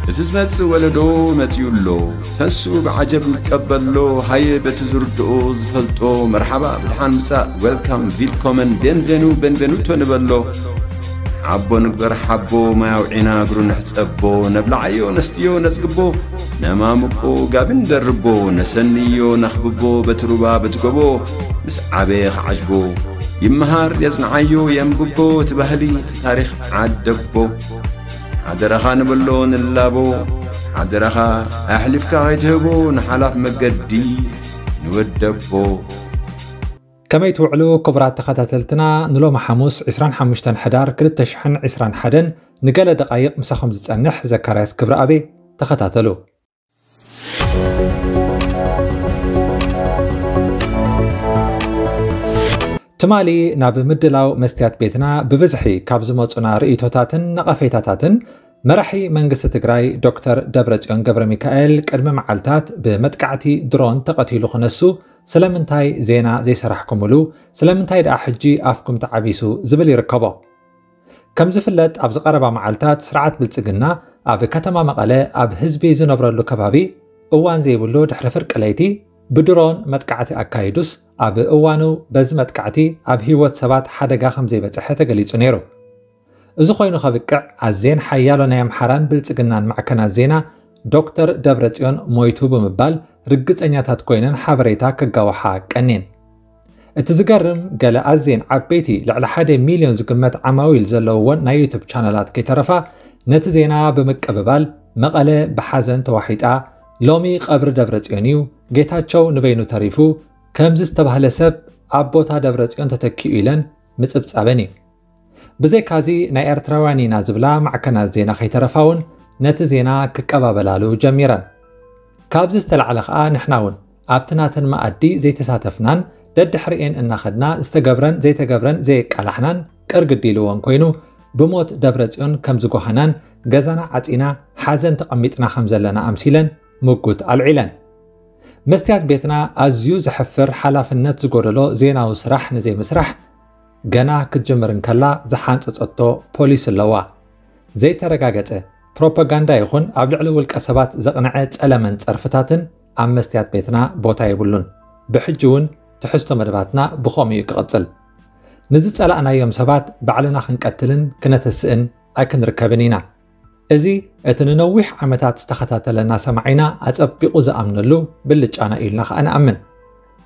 እቲ ዝመጽእ ወለዶ መጺኡ ኣሎ። ተንስኡ ብዓጀብ ንቀበሎ። ሃየ በቲ ዝርድኦ ዝፈልጦ መርሓባ ብድሓን ምጻእ፣ ዌልካም፣ ቪልኮመን፣ ቤንቬኑ፣ ቤንቬኑቶ ንበሎ። ሓቦ ንግበር ሓቦ፣ ማይ ኣውዒና እግሩ ንሕጸቦ። ነብልዓዮ ነስትዮ ነጽግቦ፣ ነማምቆ ጋቢ ንደርቦ። ነሰንዮ ነኽብቦ በቲ ሩባ በቲ ጎቦ። ምስ ዓበየ ክዓጅቦ፣ ይመሃር የጽንዓዮ የንብቦ። እቲ ባህሊ እቲ ታሪኽ ዓደቦ። ሓደራኻ ንበሎ ንላቦ፣ ሓደራኻ ኣሕሊፍካ ከይትህቦ ንሓላፍ መገዲ ንወደቦ። ከመይ ትውዕሉ ክቡራት ተኸታተልትና? ንሎሚ ሓሙስ ዕስራን ሓሙሽተን ሕዳር ክልተ ሽሕን ዕስራን ሓደን ንገለ ደቓይቕ ምሳኹም ዝጸንሕ ዘካርያስ ክብረኣቤ። ተኸታተሉ። ትማሊ ናብ ምድላው መስትያት ቤትና ብብዝሒ ካብ ዝመጹና ርእይቶታትን ነቐፌታታትን፣ መራሒ መንግስቲ ትግራይ ዶክተር ደብረጽዮን ገብረ ሚካኤል ቅድሚ መዓልታት ብመጥቃዕቲ ድሮን ተቐቲሉ ክነሱ ስለምንታይ ዜና ዘይሰራሕኩምሉ? ስለምንታይ ደኣ ሕጂ ኣፍኩም ተዓቢሱ? ዝብል ይርከቦ። ከም ዝፍለጥ ኣብዚ ቀረባ መዓልታት ስርዓት ብልጽግና ኣብ ከተማ መቐለ ኣብ ህዝቢ ዝነብረሉ ከባቢ እዋን ዘይብሉ ድሕሪ ፍርቂ ለይቲ ብድሮን መጥቃዕቲ ኣካይዱስ ኣብ እዋኑ በዚ መጥቃዕቲ ኣብ ህይወት ሰባት ሓደጋ ከም ዘይበጽሐ ተገሊጹ ነይሩ። እዚ ኮይኑ ከብቅዕ ኣዝየን ሓያሎ ናይ ኣምሓራን ብልጽግናን ማዕከናት ዜና ዶክተር ደብረጽዮን ሞይቱ ብምባል ርግጸኛታት ኮይነን ሓበሬታ ከጋውሓ ቀንየን። እቲ ዝገርም ገለ ኣዝየን ዓበይቲ ልዕሊ ሓደ ሚልዮን ዝግመት ዓማዊል ዘለውወን ናይ ዩቱብ ቻነላት ከይተረፋ ነቲ ዜና ብምቅብባል መቐለ ብሓዘን ተዋሒጣ ሎሚ ቀብሪ ደብረጽዮን እዩ፣ ጌታቸው ንበይኑ ተሪፉ፣ ከምዚ ዝተባህለ ሰብ ኣብ ቦታ ደብረጽዮን ተተኪኡ ኢለን ምጽብጻበን እዩ። ብዘይካዚ ናይ ኤርትራውያን ኢና ዝብላ ማዕከናት ዜና ከይተረፋ እውን ነቲ ዜና ክቀባበላሉ ጀሚረን። ካብዚ ዝተላዕለ ከኣ ንሕና እውን ኣብቲ ናተን መኣዲ ዘይተሳተፍናን ደድሕሪኤን እናኸድና ዝተገብረን ዘይተገብረን ዘየቃላሕናን ቅር ግዲ ኢልወን ኮይኑ ብሞት ደብረጽዮን ከም ዝጓሃናን ገዛና ዓጺና ሓዘን ተቐሚጥና ከም ዘለና ኣምሲለን ምጉት ኣልዒለን። መስትያት ቤትና ኣዝዩ ዘሕፍር ሓላፍነት ዝጎደሎ ዜናዊ ስራሕ ንዘይምስራሕ ገና ክትጅምር እንከላ ዝሓንጸጸቶ ፖሊስ ኣለዋ። ዘይተረጋገጸ ፕሮፓጋንዳ ይኹን ኣብ ልዕሊ ውልቀ ሰባት ዘቕንዐ ጸለመን ጸርፍታትን ኣብ መስትያት ቤትና ቦታ የብሉን። ብሕጂ እውን ትሕዝቶ መደባትና ብኸምኡ እዩ ክቕጽል። ንዝጸላእናዮም ሰባት ባዕልና ክንቀትልን ክነተስእን ኣይክንርከብን ኢና። እዚ እቲ ንነዊሕ ዓመታት ዝተኸታተለና ሰማዒና ኣጸቢቑ ዝኣምነሉ ብልጫና ኢልና ከኣ ንኣምን።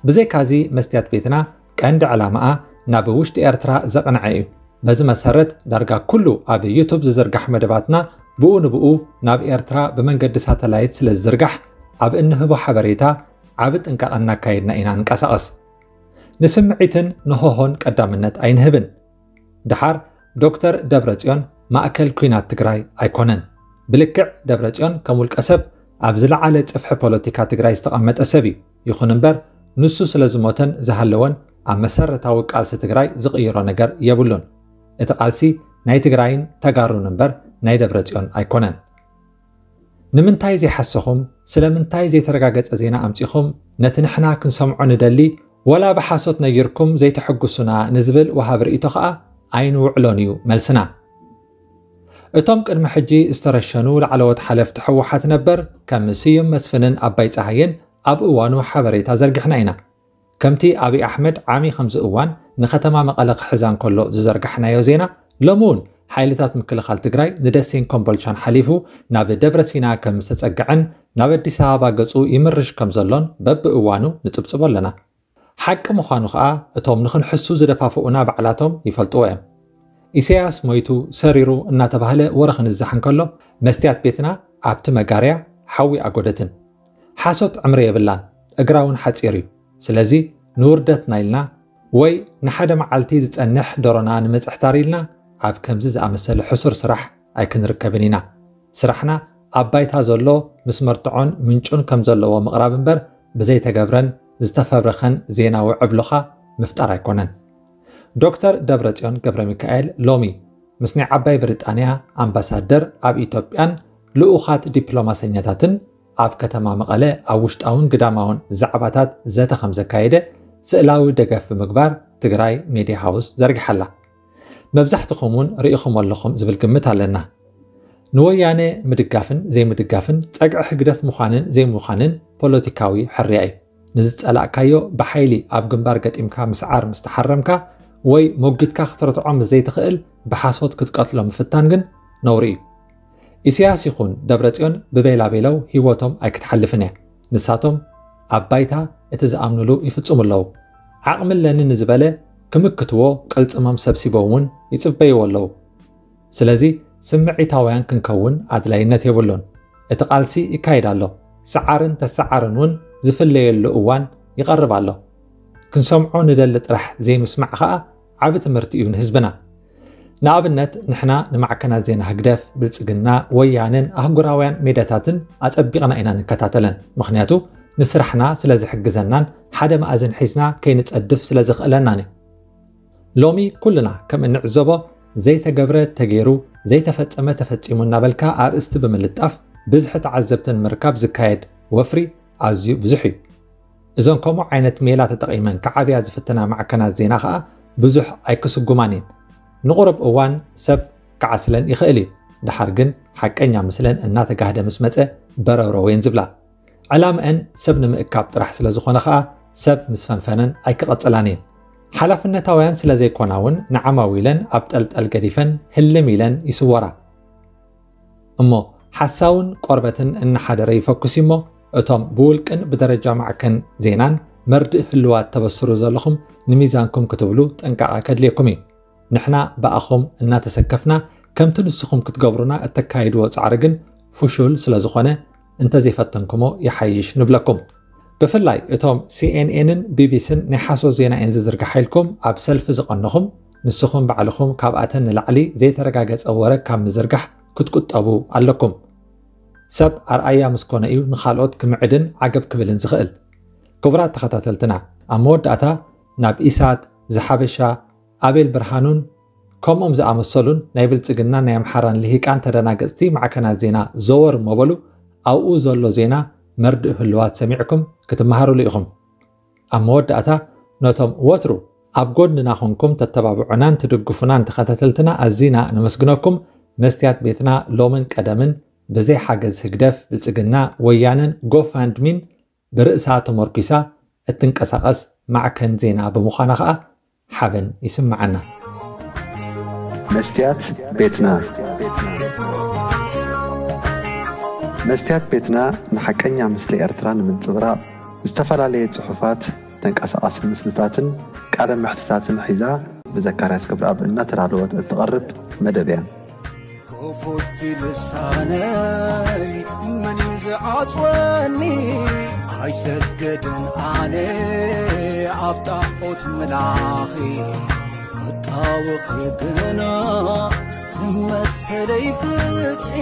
ብዘይካዚ መስትያት ቤትና ቀንዲ ዕላማኣ ናብ ውሽጢ ኤርትራ ዘቕንዐ እዩ። በዚ መሰረት ዳርጋ ኩሉ ኣብ ዩቱብ ዝዝርጋሕ መደባትና ብኡ ንብኡ ናብ ኤርትራ ብመንገዲ ሳተላይት ስለ ዝዝርጋሕ ኣብ እንህቦ ሓበሬታ ዓቢ ጥንቃቐ እናካየድና ኢና ንንቀሳቐስ። ንስምዒትን ንሆሆን ቀዳምነት ኣይንህብን። ደሓር ዶክተር ደብረጽዮን ማእከል ኲናት ትግራይ ኣይኮነን። ብልክዕ ደብረጽዮን ከም ውልቀ ሰብ ኣብ ዝለዓለ ጽፍሒ ፖለቲካ ትግራይ ዝተቐመጠ ሰብ እዩ። ይኹን እምበር ንሱ ስለ ዝሞተን ዝሃለወን ኣብ መሰረታዊ ቃልሲ ትግራይ ዝቕይሮ ነገር የብሉን። እቲ ቃልሲ ናይ ትግራይን ተጋሩን እምበር ናይ ደብረጽዮን ኣይኮነን። ንምንታይ ዘይሓሰኹም? ስለምንታይ ዘይተረጋገጸ ዜና ኣምጺኹም? ነቲ ንሕና ክንሰምዖ ንደሊ ወላ ብሓሶት ነጊርኩም ዘይተሐጉሱና ንዝብል ወሃብ ርእይቶ ኸኣ ኣይንውዕሎን እዩ መልስና። እቶም ቅድሚ ሕጂ ዝተረሸኑ ላዕለዎት ሓለፍቲ ህወሓት ነበር ከም ስዩም መስፍንን ኣባይ ጸሃየን ኣብ እዋኑ ሓበሬታ ዘርጊሕና ኢና። ከምቲ ኣብይ ኣሕመድ ዓሚ ከምዚ እዋን ንከተማ መቐለ ክሕዛ እንከሎ ዝዘርጋሕናዮ ዜና፣ ሎሚ እውን ሓይልታት ምክልኻል ትግራይ ንደሴን ኮምቦልቻን ሓሊፉ ናብ ደብረ ሲና ከም ዝተጸግዐን ናብ ኣዲስ ኣበባ ገጹ ይምርሽ ከም ዘሎን በብእዋኑ ንጽብጽቦ ኣለና። ሓቂ ምዃኑ ኸኣ እቶም ንኽንሕሱ ዝደፋፍኡና ባዕላቶም ይፈልጥዎ እዮም። ኢሳያስ ሞይቱ ሰሪሩ እናተባህለ ወረ ክንዛሕ እንከሎ መስትያት ቤትና ኣብቲ መጋርያ ሓዊ ኣጎደትን። ሓሶት ዕምሪ የብላን፣ እግራ እውን ሓጺር እዩ። ስለዚ ንውርደትና ኢልና ወይ ንሓደ መዓልቲ ዝጸንሕ ደሮና ንምጽሕታር ኢልና ኣብ ከምዚ ዝኣመሰለ ሕሱር ስራሕ ኣይክንርከብን ኢና። ስራሕና ኣብ ባይታ ዘሎ ምስ መርትዖን ምንጩን ከም ዘለዎ ምቕራብ እምበር ብዘይተገብረን ዝተፈብረኸን ዜናዊ ዕብሎኻ ምፍጣር ኣይኮነን። ዶክተር ደብረጽዮን ገብረ ሚካኤል ሎሚ ምስ ናይ ዓባይ ብሪጣንያ ኣምባሳደር ኣብ ኢትዮጵያን ልኡኻት ዲፕሎማሰኛታትን ኣብ ከተማ መቐለ ኣብ ውሽጣውን ግዳማውን ዛዕባታት ዘተ ከም ዘካየደ ስእላዊ ደገፍ ብምግባር ትግራይ ሜድያ ሃውስ ዘርጊሓ ኣላ። መብዛሕትኹም እውን ርኢኹም ኣለኹም ዝብል ግምት ኣለና። ንወያነ ምድጋፍን ዘይምድጋፍን ጸግዒ ህግደፍ ምዃንን ዘይምዃንን ፖለቲካዊ ሕርያ እዩ። ንዝጸላእካዮ ብሓይሊ ኣብ ግንባር ገጢምካ ምስዓር ምስ ተሓረምካ ወይ ሞጊትካ ክትረትዖ ምስ ዘይትኽእል ብሓሶት ክትቀትሎ ምፍታን ግን ነውሪ እዩ። ኢሳያስ ይኹን ደብረጽዮን ብቤላቤለው ህይወቶም ኣይክትሓልፍን እያ። ንሳቶም ኣብ ባይታ እቲ ዝኣምኑሉ ይፍጽሙ ኣለዉ። ዓቕሚ ኣለኒ ንዝበለ ክምክትዎ ቅልጽሞም ሰብሲቦም እውን ይጽበይዎ ኣለዉ። ስለዚ ስምዒታውያን ክንከውን ኣድላይነት የብሉን። እቲ ቃልሲ ይካየድ ኣሎ። ሰዓርን ተሰዓርን እውን ዝፍለየሉ እዋን ይቐርብ ኣሎ። ክንሰምዖ ንደሊ ጥራሕ ዘይምስማዕ ኸኣ ዓቢ ትምህርቲ እዩ ንህዝብና። ንኣብነት ንሕና ንማዕከናት ዜና ህግደፍ፣ ብልጽግና፣ ወያነን ኣህጉራውያን ሜዳታትን ኣጸቢቕና ኢና ንከታተለን። ምኽንያቱ ንስራሕና ስለ ዝሕግዘናን ሓደ መኣዝን ሒዝና ከይንጸድፍ ስለ ዘኽእለናን እዩ። ሎሚ ኩልና ከም እንዕዘቦ ዘይተገብረ ተገይሩ፣ ዘይተፈጸመ ተፈጺሙ እናበልካ ኣርእስቲ ብምልጣፍ ብዝሒ ተዓዘብቲ ንምርካብ ዝካየድ ወፍሪ ኣዝዩ ብዙሕ እዩ። እዘን ከምኡ ዓይነት ሜላ ተጠቒመን ክዓብያ ዝፍትና ማዕከናት ዜና ኸኣ ብዙሕ ኣይክስጉማን እየን። ንቑሩብ እዋን ሰብ ክዓስለን ይኽእል እዩ። ደሓር ግን ሓቀኛ ምስለን እናተጋህደ ምስ መጸ በረብረወን ዝብላ። ዕላምአን ሰብ ንምእካብ ጥራሕ ስለ ዝኾነ ኸኣ ሰብ ምስ ፈንፈነን ኣይክቐጽላን እየን። ሓላፍነታውያን ስለ ዘይኮና እውን ንዓማዊለን ኣብ ጠልጠል ገዲፈን ህልም ኢለን ይስወራ። እሞ ሓሳውን ቆርበትን እናሓደረ ይፈኩስ እሞ እቶም ብውልቅን ብደረጃ ማዕከን ዜናን መርድእ ህልዋት ተበስሩ ዘለኹም ንሚዛንኩም ክትብሉ ጥንቃቐ ከድልየኩም እዩ። ንሕና ብኣኹም እናተሰከፍና ከምቲ ንስኹም ክትገብሩና እተካይድዎ ጻዕሪ ግን ፍሹል ስለ ዝኾነ እንተዘይፈተንኩሞ ይሓይሽ ንብለኩም። ብፍላይ እቶም ሲኤንኤንን ቢቢሲን ናይ ሓሶት ዜና እየን ዝዝርግሓ ኢልኩም ኣብ ሰልፊ ዝቐነኹም ንስኹም ባዕልኹም ካብኣተን ንላዕሊ ዘይተረጋገጸ ወረ ካብ ምዝርጋሕ ክትቁጠቡ ኣለኩም። ሰብ ኣርኣያ ምስ ኮነ እዩ ንኻልኦት ክምዕድን ዓገብ ክብልን ዝኽእል። ክቡራት ተኸታተልትና፣ ኣብ መወዳእታ ናብ ኢሳት፣ ዝሓበሻ፣ ኣቤል ብርሃኑን ከምኦም ዝኣመሰሉን ናይ ብልጽግናን ናይ ኣምሓራን ልሂቃን ተደናገጽቲ ማዕከናት ዜና ዘወር መበሉ ኣብኡ ዘሎ ዜና መርድእ ህልዋት ሰሚዕኩም ክትመሃሩሉ ኢኹም። ኣብ መወዳእታ ነቶም ወትሩ ኣብ ጎድንና ኮንኩም ተተባብዑናን ትድግፉናን ተኸታተልትና ኣዚና ነመስግነኩም። መስትያት ቤትና ሎምን ቀደምን ብዘይ ሓገዝ ህግደፍ ብልጽግና ወያነን ጎፋንድሚን ብርእሳ ተመርኲሳ እትንቀሳቐስ ማዕከን ዜና ብምዃና ኸኣ ሓበን ይስምዓና። መስትያት ቤትና መስትያት ቤትና ንሓቀኛ ምስሊ ኤርትራ ንምንጽብራቕ ዝተፈላለየ ጽሑፋት፣ ተንቀሳቓሲ ምስልታትን ቃለ መሕትታትን ሒዛ ብዘካርያስ ክብረኣብ እናተዳለወት እትቐርብ መደብ እያ። ክፉት ልሳነይ መን እዩ ዝዓጽወኒ? ኣይሰገድን ኣነ ኣብ ጣዖት ምላኺ ክጣወኺ ግና መሰለይ ፍትሒ